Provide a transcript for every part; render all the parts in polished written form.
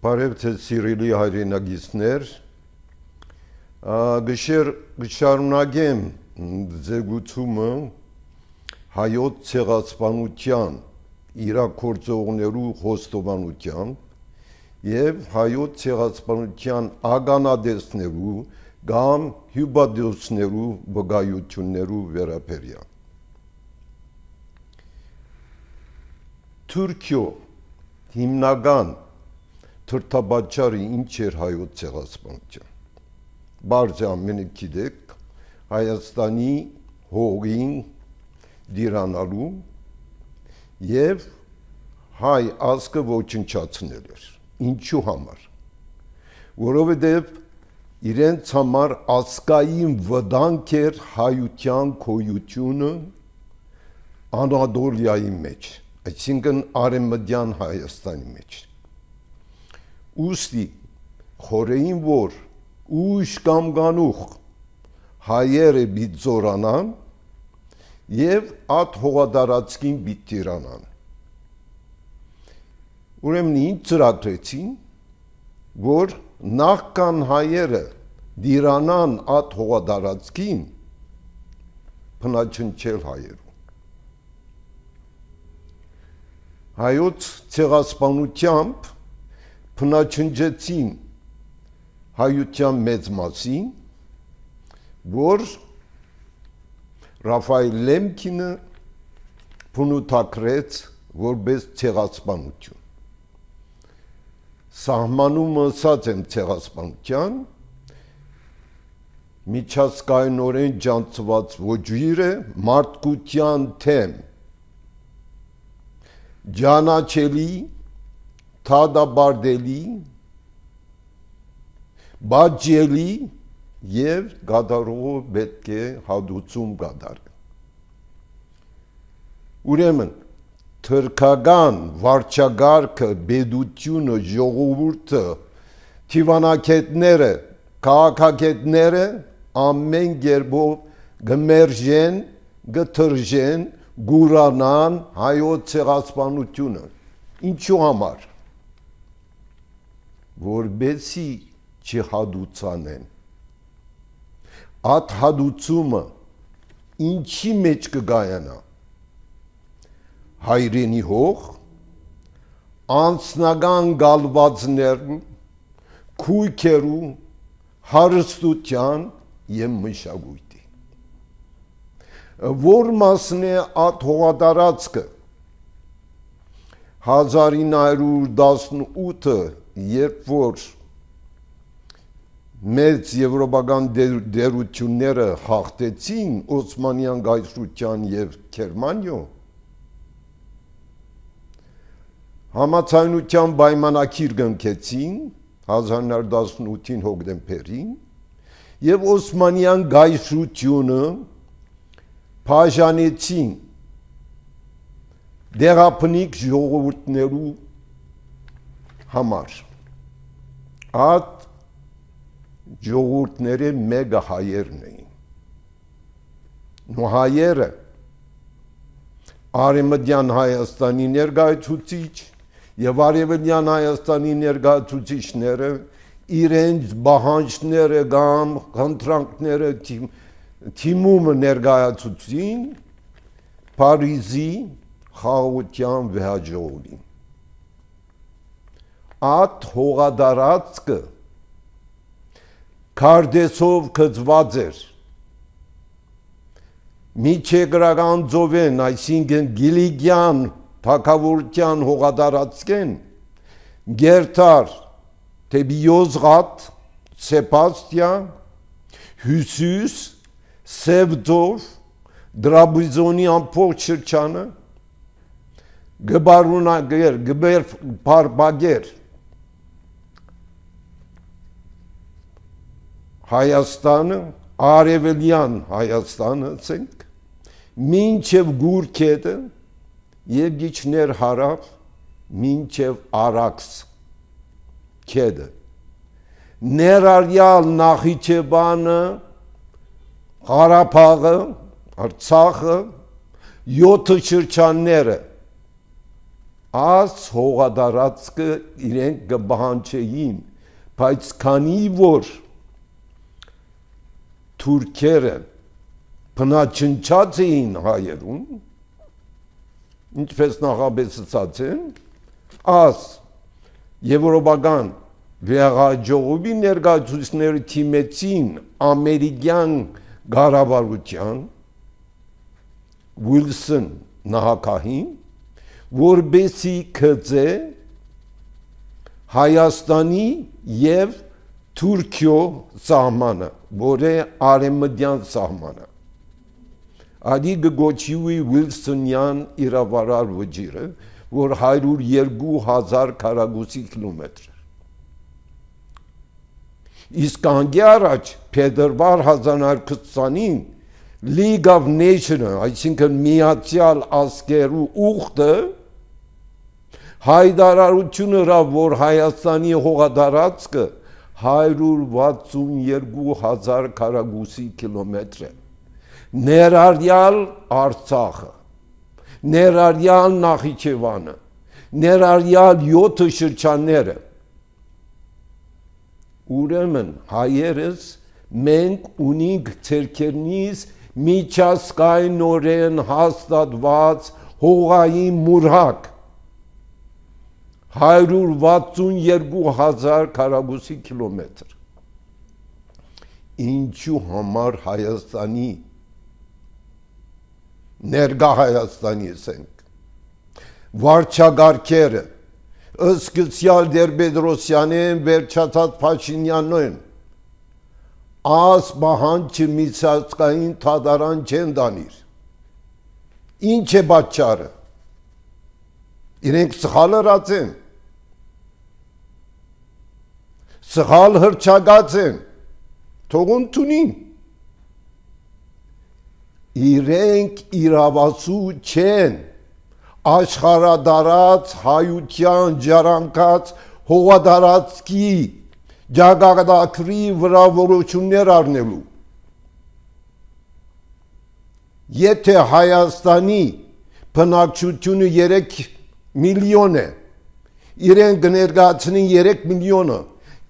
Բարև թե սիրելի հայրենագիցներ, գշարունակեմ ձգությունը հայոց ցեղասպանության իրաքործողներու խոստովանությամբ եւ հայոց ցեղասպանության ագանադեսներու կամ հյուբադոսներու վկայություններու վերաբերյալ։ Թուրքիո հիմնական թրթաբաճարը ինչ էր հայոց ցեղասպանության։ Բարձ ամենը գիտեք, Հայաստանի հողին դիրանալու եւ հայ ազգը ոչնչացնել էր։ Ինչու համար։ Որովհետեւ իրենց համար ազգային վտանգ էր հայության գոյությունը Անադոլիայի մեջ, այսինքն Արևմտյան Հայաստանի մեջ։ Ուստի խորեին որ ուշ կամ գանուխ հայերը բիտ զորանան եւ այդ հողադարածքին բիտ տիրանան։ Ուրեմն ինչ ծրագրեցին, որ նախքան հայերը դիրանան այդ հողադարածքին փնաչնչել հայերու։ Հայոց ցեղասպանությամբ փնաչնջեցին հայության մեծ մասին, որ Ռաֆայել Լեմկինը փնութակրեց որպես ցեղասպանություն։ Սահմանումը ասած եմ ցեղասպանության միջազգայինորեն ջանցված ոճիրը մարդկության թեմ ջանաչելի թադաբարդելի բաջելի եւ գադարողը պետք է հադուցում գադարը։ Ուրեմն թրքական վարչագարքը, բեդությունը, ժողովուրդը, թիվանակետները, քաղաքակետները ամեն գերբով գմերժեն, գթրջեն, գուրանան հայոց ցեղասպանությունը։ Ինչու համար։ Որբեսի չհադուցանեն։ Այդ հադուցումը ինչի մեջ կգայանա։ Հայրենի հող, անձնական գալվածներու, քույքերու, հարստության եւ մշակույթի։ Որ մասն է այդ հողադարածքը 1918-ը, երբ որ մեծ եվրոպական դերությունները հաղթեցին Օսմանյան գայսրության եւ Գերմանիո, համաձայնության պայմանագիր կնքեցին 1918-ին հոկտեմբերին եւ Օսմանյան գայսրությունը բաժանեցին դեղափնիկ ժողովուրդներու համար։ Այդ ժողովուրդները մեկը հայերն էին։ Ու հայերը Արևմտյան Հայաստանի ներկայացուցիչ եւ Արևելյան Հայաստանի ներկայացուցիչները իրենց բանջները կամ խնդրանքները թիմումը ներկայացուցին Փարիզի խաղաղության վեհաժողովին։ Այդ հողադարածքը քարտեզով գծված էր միջեգրական ծովեն, այսինքն Գիլիգյան թագավորության հողադարածքեն գերտար դեպի Յոզղատ, Սեբաստիա, Հյուսիս, Սևձով, Դրաբիզոնի ամբողջ շրջանը գբարունագեր, գբերբագեր Հայաստանը, Արևելյան Հայաստանը, ասենք, մինչև Գուրքետը եւ գիչներ հարավ, մինչև Արաքս քեդը։ Ներառյալ Նախիջևանը, Աս հողադարածքը իրենք կբահանջեին, բայց քանի որ թուրքերը բնաչնչած էին հայերուն, ինչպես նախաբեցած են, աս եվրոպական վեհաժողովի ներկայացուցիչները թիմեցին ամերիկյան կառավարության Ուիլսոն նահանգին, որբեսի գծե Հայաստանի եւ Թուրքիո սահմանը, որ է արևմտյան սահմանը։ Ադի գոչիուի Ուիլսոնյան իրավարար վճիրը, որ 102,000 քառակուսի կիլոմետր։ Իսկ անգի առաջ փետրվար 1920-ին League of Nations, այսինքն միացյալ ազգերու ուխտը հայտարարություն հրավ, որ Հայաստանի հողադարածքը 162,000 քառակուսի կիլոմետր է, ներառյալ Արցախը, ներառյալ Նախիջևանը, ներառյալ 7 շրջանները։ Ուրեմն հայերս մենք ունենք ցերկերնից միջազգայնորեն հաստատված հողային մուրհակ 162,000 քառակուսի կիլոմետր։ Ինչու համար Հայաստանի ներկա Հայաստանի ասենք վարչագարքերը ըսկցյալ Տեր-Պետրոսյանեն վերջացած Փաշինյանն Աս բահանջը միջազգային թադարան չեն դանիր։ Ինչ է պատճառը։ Իրենք սխալ հրած են։ Սխալ հրճակած են։ Թողուն տունին։ Իրենք իրավասու չեն աշխարհադարած հայության ջարանքած հողադարածքի Ջագագադակրի վրա որոշումներ առնելու։ Եթե Հայաստանի բնակչությունը 3 միլիոն է, իրենք ներկայացնեն 3 միլիոնը,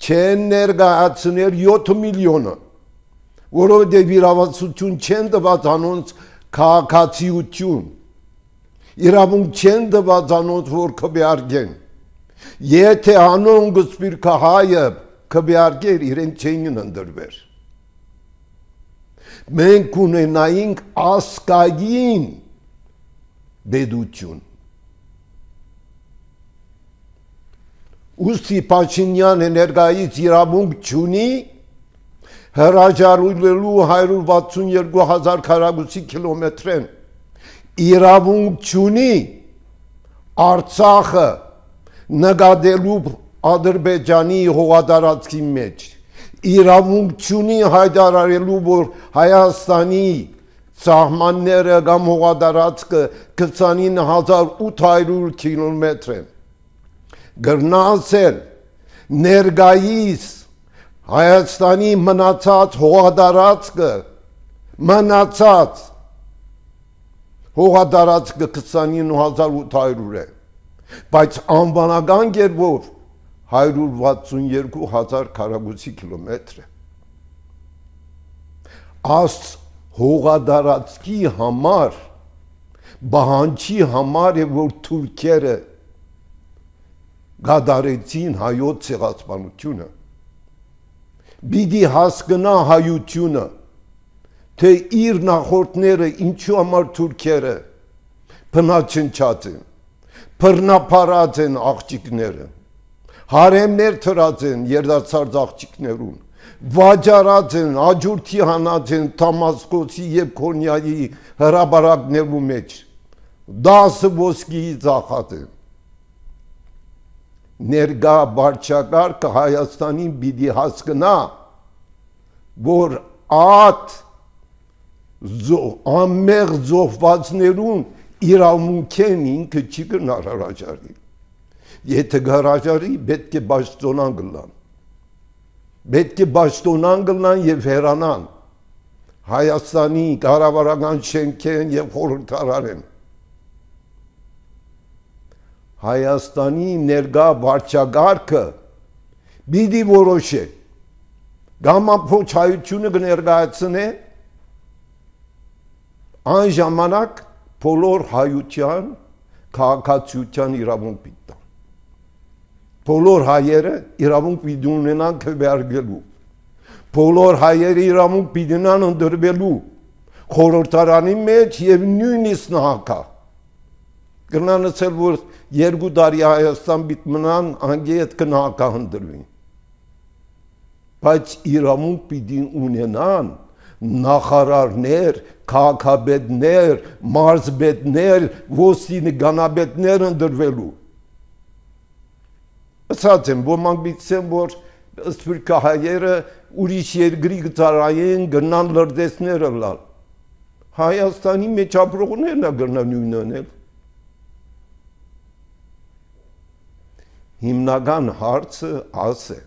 չեն ներկայացնել 7 միլիոնը, որովհետև իրավասություն չեն տված անոնց քաղաքացիություն, իրավունք չեն տված անոնց, որ քվեարկեն։ Եթե անոնք սպիրկահայը քվեարկեր, իրենք չէին ընդրվեր։ Մենք ունենայինք ասկային բեդություն։ Ուստի Փաշինյանը ներկայից իրավունք չունի հրաժարվելու 162,000 քառակուսի կիլոմետրեն, իրավունք չունի Արցախը նկատելու Ադրբեջանի հողադարածքի մեջ, իրավունք չունի հայտարարելու, որ Հայաստանի սահմանները կամ հողադարածքը 29,800 կիլոմետր են։ Գրնասել ներկայիս Հայաստանի մնացած հողադարածքը, մնացած հողադարածքը 29,800 է, բայց անվանական կերպով 162,000 քառակուսի կիլոմետր է։ Աս հողադարածքի համար, բահանջի համար է, որ թուրքերը գադարեցին հայոց ցեղասպանությունը։ Բիդի հասկնա հայությունը, թե իր նախորդները ինչու համար թուրքերը բնաչնչած են, բռնապարած են աղջիկները, հարեմներ թրած են երդացած աղջիկներուն, վաճառած են, աջուրդի հանած են Դամասկոսի և Քոնյայի հրաբարակներու մեջ, 10 ոսկիի ծախած են։ Ներկա վարչակարգը Հայաստանին պիտի հասկնա, որ այդ անմեղ զոհվածներուն իրավունք են ինքը չի գնար հրաժարի։ Եթե հրաժարի, պետք է պաշտոնան գլան։ Պետք է պաշտոնան գլան և հեռանան Հայաստանի կառավարական շենքեն և խորհրդարան են։ Հայաստանի ներկա վարչագահը պիտի որոշի կամ ամբողջ հայությունը կներկայացնե այն ժամանակ բոլոր հայության քաղաքացիության իրավունք պիտի բոլոր հայերը իրավունք պիտի ունենան քվեարկելու բոլոր հայերը իրավունք պիտի ունենան ընդրվելու խորհրդարանի մեջ եւ նույնիսկ նահանգ կնանացել որ 2 տարի Հայաստան պիտի մնան անգետ կնահանգ ընդրվին բայց իրավունք պիտի ունենան նախարարներ, քաղաքապետներ, մարզպետներ, ոստիկանապետներ ընդրվելու ասած եմ, ոմանք պիտի որ սփյուռքահայերը ուրիշ երկրի գծարային գնան լրտեսները լալ Հայաստանի մեջ ապրողներն է գնան նույնն անել հիմնական հարցը աս է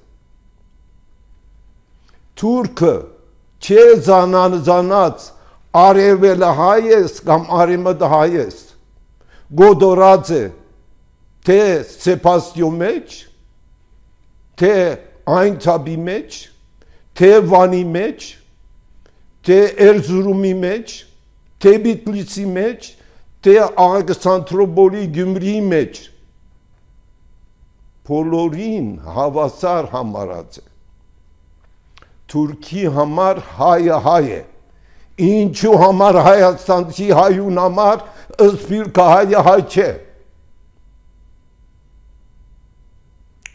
Թուրքը չէ զանած արևելը հայ ես կամ արևմուտքը հայ ես գոդորած է թե Սեփաստիո մեջ թե այն թաբի մեջ թե Վանի մեջ թե Էրզուրումի մեջ թե Բիթլիսի մեջ թե Ալեքսանդրոպոլի Գյումրիի մեջ բոլորին հավասար համարած է Թուրքի համար հայը հայ է ինչու համար հայաստանցի հայուն համար սփյուռքահայը հայ չէ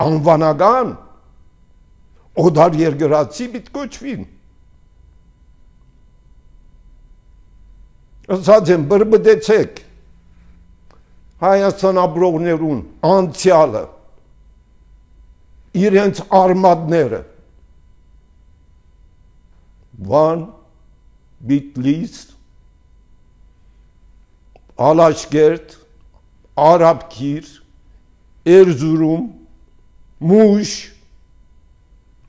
անվանական օդար երկրացի պիտի կոչվին ասած եմ բրբդեցեք Հայաստան ապրողներուն անցյալը իրենց արմատները Van, Bitlis, Alaşkert, Arapkir, Erzurum, Muş,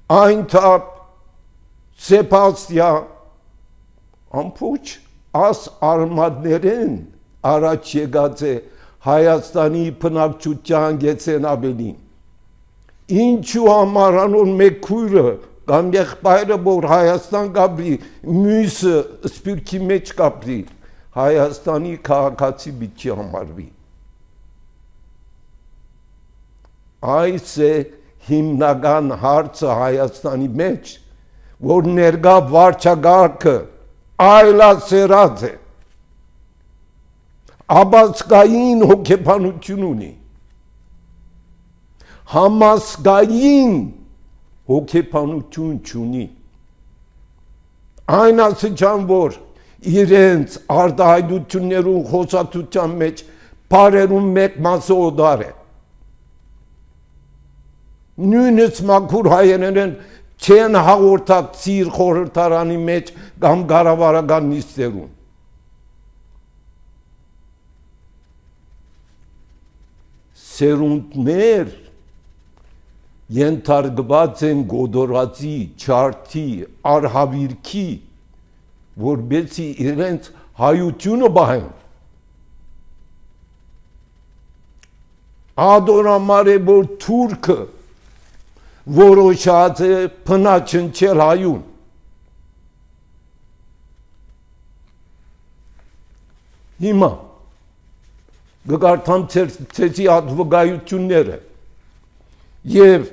Aintab, Sepasya, ամբողջ աս արմատներեն առաջ եկած է Հայաստանի բնակչության գեցեն ավելին ինչու համար անոր մեկ քույրը կամ եղբայրը որ Հայաստան կապրի մյուսը սփյուռքի մեջ կապրի Հայաստանի քաղաքացի պիտի համարվի այս է հիմնական հարցը Հայաստանի մեջ որ ներկա վարչագահը այլասերած է Աբասկային հոգեբանություն ունի համասկային հոգեբանություն չունի այն ասիչան որ իրենց արտահայտություններուն խոսակցության մեջ բարերուն մեկ մասը օդար է նույնիսկ մաքուր հայերեն չեն հաղորդակցիր խորհրդարանի մեջ կամ կառավարական նիստերուն սերունդներ ենթարկված են գոդորածի, չարթի, արհավիրքի, որբեցի իրենց հայությունը բահեն։ Ադորամար է, որ թուրքը որոշած է փնաչնչել հայուն։ Հիմա գկարդամ ցեցի ադվոգայությունները եւ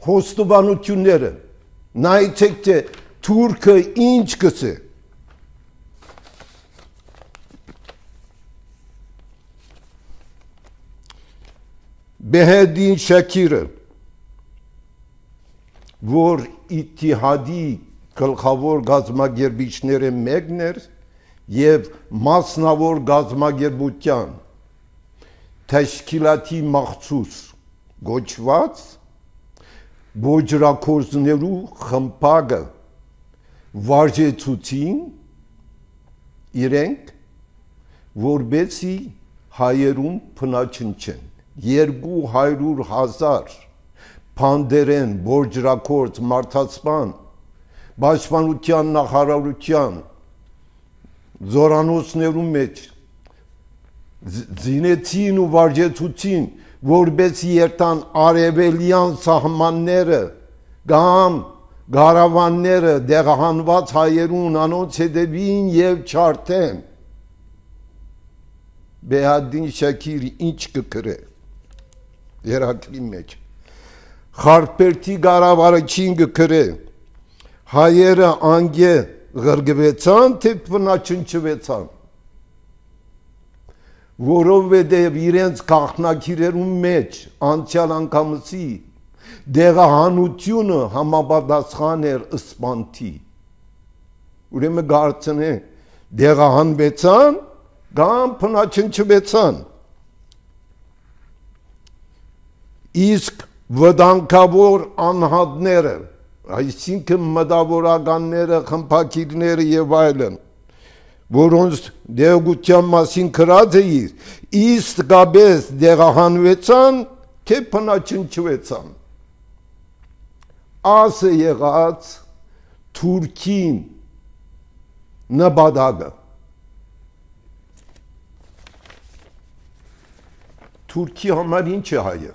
խոստովանությունները նայեցեք թե թուրքը ինչ կսե Բեհեդին Շաքիրը որ Իթիհադի գլխավոր գազམ་ագերբիչները մեկն էր եւ մասնավոր գազམ་ագերբության Թաշկիլաթի մախցուս գոչված բոջրակորձներու խմբակը վարժեցուցին իրենք որբեցի հայերուն փնաչնչեն 200,000 փանդերեն բոջրակորձ մարդասպան պաշտպանության նախարարության զորանոցներու մեջ զինեցին ու վարժեցուցին, որպես երթան արևելյան սահմանները կամ գարավանները դեղահանված հայերուն անոնց հետևին եւ չարթեն։ Բեհադին Շաքիրի ինչ կկրե երակրի մեջ խարպերտի գարավարչին կկրե հայերը անգե գրգվեցան թե բնաչնչվեցան որովհետև իրենց գաղտնագիրերում մեջ անցյալ անգամսի դեղահանությունը համապատասխան էր ըսպանթի ուրեմն գարցնե դեղահանվեցան կամ բնաչնչվեցան իսկ վտանգավոր անհատները այսինքն մտավորականները խմբակիրները եւ այլն որոնց դեղության մասին գրած է իսկապես դեղահանվեցան թե բնաչնչվեցան ասը եղած Թուրքին նպատակը Թուրքի համար ինչ է հայը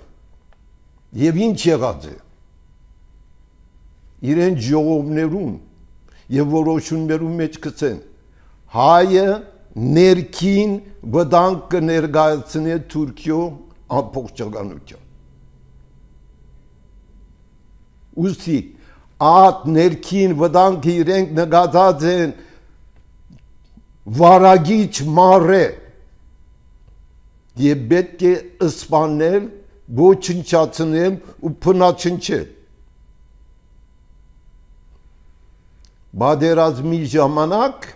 եւ ինչ եղած է իրեն ժողովներուն եւ որոշումներուն մեջ գցեն հայը ներքին վտանգ կներկայացնի Թուրքիո ամբողջականության ուստի այդ ներքին վտանգը իրենք նկատած են վարագիչ մարե եւ պետք է սպանել ոչնչացնել ու փնաչնչել բادرազմի ժամանակ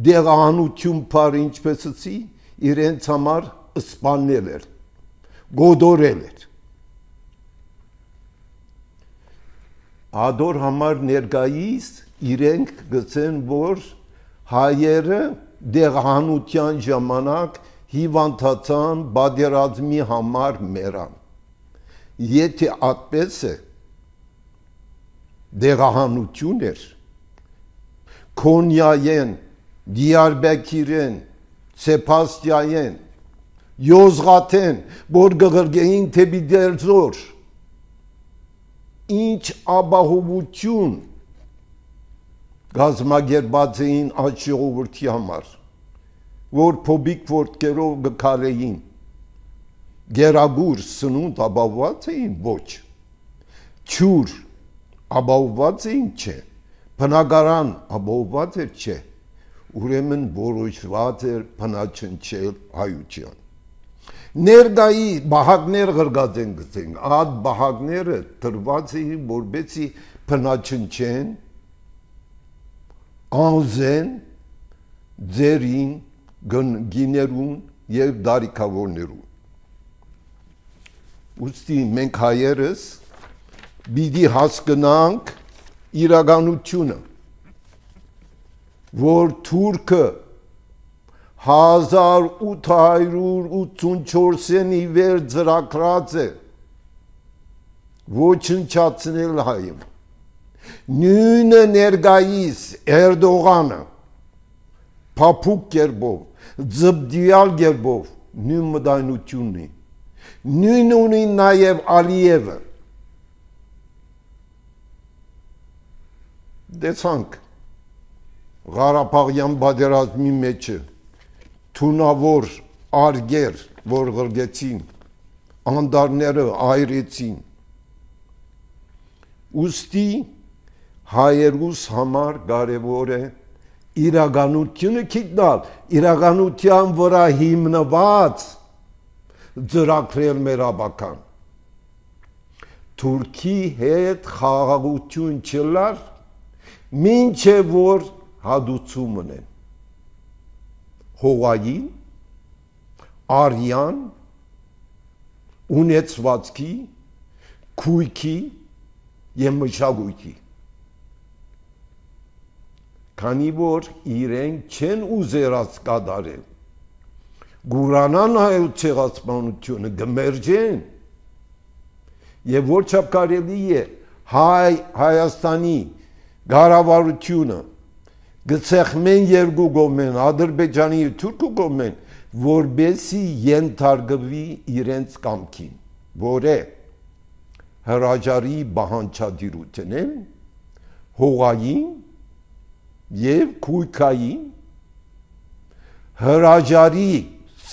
դեղահանություն բար ինչպես ասի իրենց համար սպանել էր գոդորել էր ադոր համար ներկայիս իրենք գցեն որ հայերը դեղահանության ժամանակ հիվանդացան բادرազմի համար մեռան եթե այդպես է դեղահանություն էր Քոնյայեն, Դիարբեկիրեն, Սեփաստիայեն, Յոզղաթեն, որ գղրգեին թեպի դերձոր, ինչ ապահովություն գազմագերբած էին այդ ժողովրդի համար, որ փոբիկ որդքերով գքալեին, գերագուր սնունդ ապահովված էին ոչ, չուր ապահովված էին չէ, բնակարան ապահովված էր չէ, ուրեմն որոշված էր բնաչնչել հայության։ Ներկայի բահակներ գրգած են գցենք, այդ բահակները տրված էին որբեցի բնաչնչեն, անզեն, ձերին, գիներուն և դարիքավորներուն։ Ուստի մենք հայերս բիդի հասկնանք իրականությունը, որ թուրքը 1884-ի վեր ծրագրած է ոչնչացնել հայում։ Նույնը ներկայիս Էրդողանը փափուկ կերպով, ձբդյալ կերպով նույն մտայնությունն է։ Նույն ունի նաև Ալիևը։ Դեցանք Ղարաբաղյան պատերազմի մեջը թունավոր արգեր, որ գրգեցին, անդարները այրեցին։ Ուստի հայերուս համար կարևոր է իրականությունը գտնել, իրականության վրա հիմնված ծրագրել մեր ապական։ Թուրքի հետ խաղաղություն չլար, մինչև որ հադուցում ունեն հողային, արյան, ունեցվածքի, քույքի և մշակույթի։ Քանի որ իրենք չեն ուզերած կատարել, գուրանան հայոց ցեղասպանությունը գմերջեն և որ չափ կարելի է Հայաստանի գարավարությունը գցեղմեն երկու գոմեն, Ադրբեջանի և Թուրքու գոմեն, որբեսի ենթարկվի իրենց կամքին, որ է հրաժարի բանջարդիրութենեն, հողային և քույքային, հրաժարի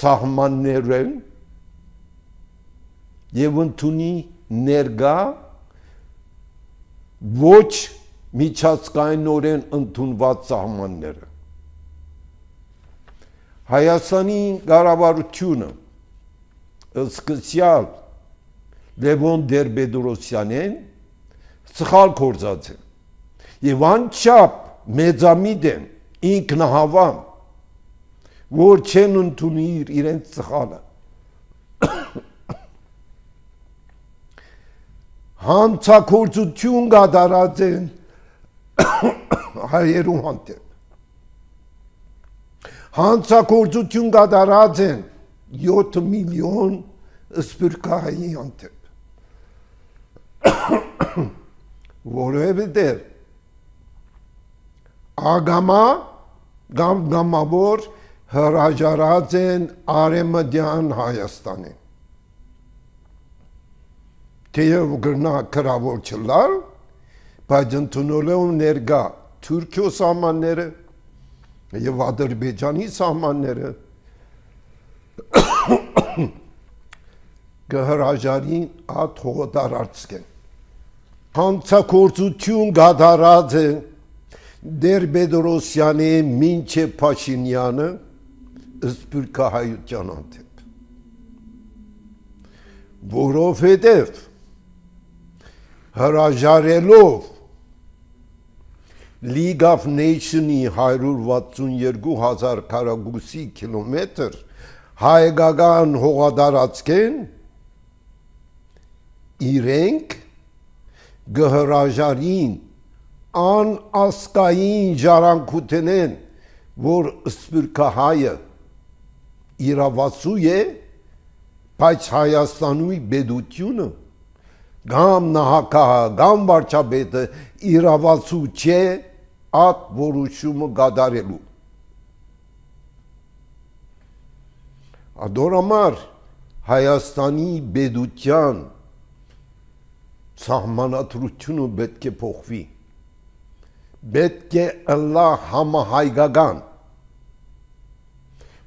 սահմաններեն և ընդունի ներգա ոչ միջազգայնորեն ընդունված սահմանները։ Հայաստանի կառավարությունը սկսյալ Լևոն Տեր-Պետրոսյանեն սխալ գործած է և անչափ մեծամիտ են ինքնահավան, որ չեն ընդունիր իրենց սխալը։ Հանցագործություն կատարած են հայերու հանդեպ։ Հանցագործություն կատարած են 7 միլիոն սփյուռքահայի հանդեպ։ Որովհետև ագամա կամ գամավոր հրաժարած են Արևմտյան Հայաստանին։ Թեև գրնա քրավոր չլալ, բայց ընդունելով ներկա Թուրքիո սահմանները և Ադրբեջանի սահմանները կհրաժարին այդ հողատարածքեն։ Հանցագործություն կատարած է Տեր-Պետրոսյանի մինչև Փաշինյանը սփյուռքահայության հանդեպ, որովհետև հրաժարելով League of Nations-ի 162,000 քառակուսի կիլոմետր հայկական հողատարածքեն իրենք կհրաժարին անասկային ժառանգութենեն, որ սփյուռքահայը իրավացու է, բայց Հայաստանի պետությունը կամ նահանգահը կամ վարչապետը իրավացու չէ այդ որոշումը կատարելու։ Ադորամար Հայաստանի պետության սահմանադրությունը պետք է փոխվի, պետք է ըլլա համահայկական,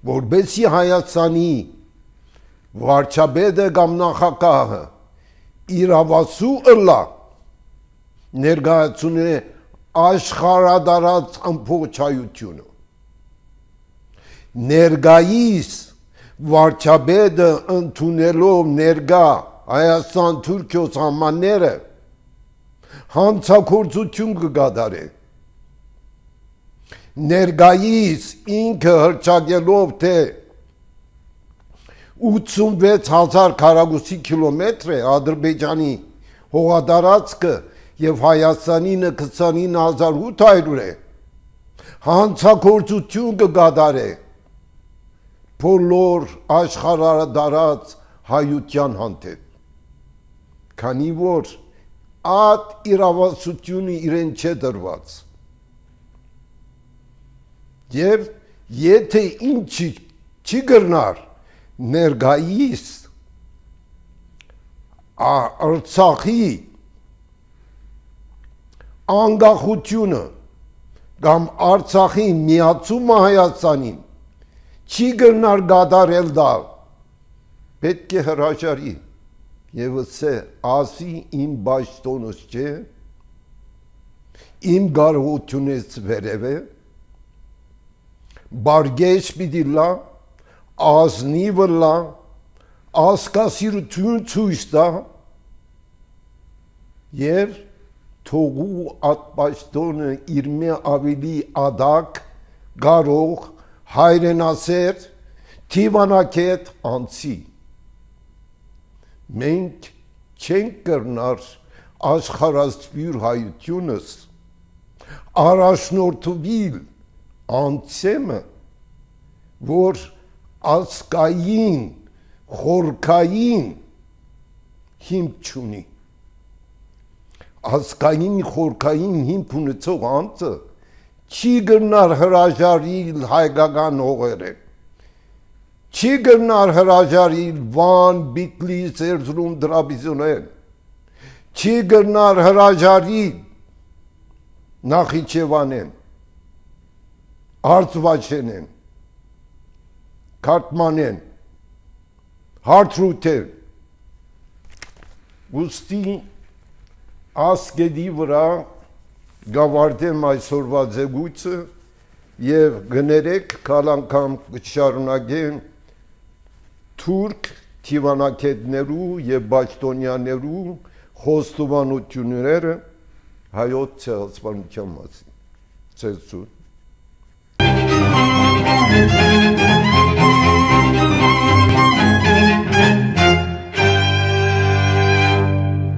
որբեսի Հայաստանի վարչապետը կամ նախագահը իրավացու ըլլա ներկայացնե աշխարհադարած ամբողջ հայությունը։ Ներկայիս վարչապետը ընդունելով ներկա Հայաստան-Թուրքիո սահմանները հանցագործություն կկատարի։ Ներկայիս ինքը հռչակելով թե 86,000 քառակուսի կիլոմետր է Ադրբեջանի հողատարածքը և Հայաստանինը 29,800 է, հանցագործություն կկատարի բոլոր աշխարհադարած հայության հանդեպ, քանի որ այդ իրավասությունը իրեն չէ դրված։ Եվ եթե ինչ չի գրնար ներկայիս Արցախի անկախությունը կամ Արցախի միացումը Հայաստանին չի գրնար կատարել դալ, պետք է հրաժարի և ասե ասի իմ պաշտոնս չէ, իմ կարողությունից վերև է, բարգեշ պիտի լա, ազնիվ լա, ասկասիրություն ցույց տա և թողու այդ պաշտոնը իր մի ավելի ադակ, կարող, հայրենասեր, թիվանակետ անցի։ Մենք չենք կրնար աշխարհասփյուռ հայությունս առաջնորդվել անցեմը, որ ազգային, խորքային հիմք չունի։ Ազգային, խորքային հիմք ունեցող անձը չի գնար հրաժարիլ հայկական հողերը, Չի գնար հրաժարիլ Վան, Բիտլիս, Էրզրում, Դրաբիզոնել, չի գնար հրաժարիլ Նախիջևանեն, Արցվաշենեն, Քարթմանեն, Հարթրութեր, ուստի ասկեդի վրա գավարտեմ այսօրվա ձգույցը և գներեք կալանգամ կշարունակեն թուրք թիվանակետներու և բաճտոնյաներու խոստովանությունները հայոց ցեղասպանության մասին։ Ցեզություն։